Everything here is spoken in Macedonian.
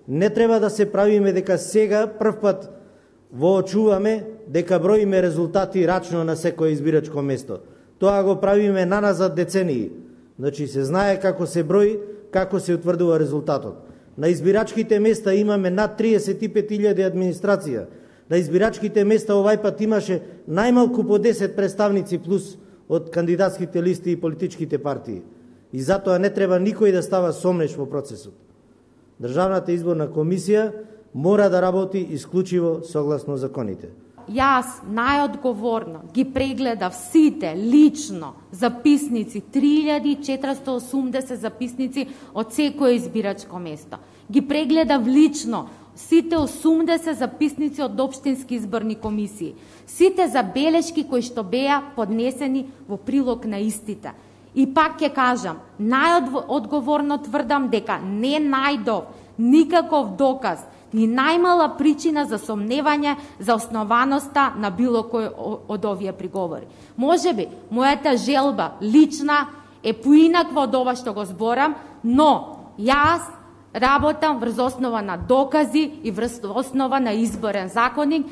Не треба да се правиме дека сега првпат воочуваме дека броиме резултати рачно на секое избирачко место. Тоа го правиме наназад децении. Значи се знае како се брои, како се утврдува резултатот. На избирачките места имаме над 35.000 администрација. На избирачките места овај пат имаше најмалку по 10 представници плюс од кандидатските листи и политичките партии. И затоа не треба никој да става сомнеш во процесот. Државната изборна комисија мора да работи исклучиво согласно законите. Јас најодговорно ги прегледав сите лично записници, 3480 записници од секое избирачко место. Ги прегледав лично сите 80 записници од општински изборни комисии, сите забелешки кои што беа поднесени во прилог на истите. И пак ќе кажам, најодговорно тврдам дека не најдов никаков доказ, ни најмала причина за сомневање за основаноста на било кој од овие приговори. Можеби, мојата желба лична е поинаква од ова што го зборам, но јас работам врз основа на докази и врз основа на изборен законник.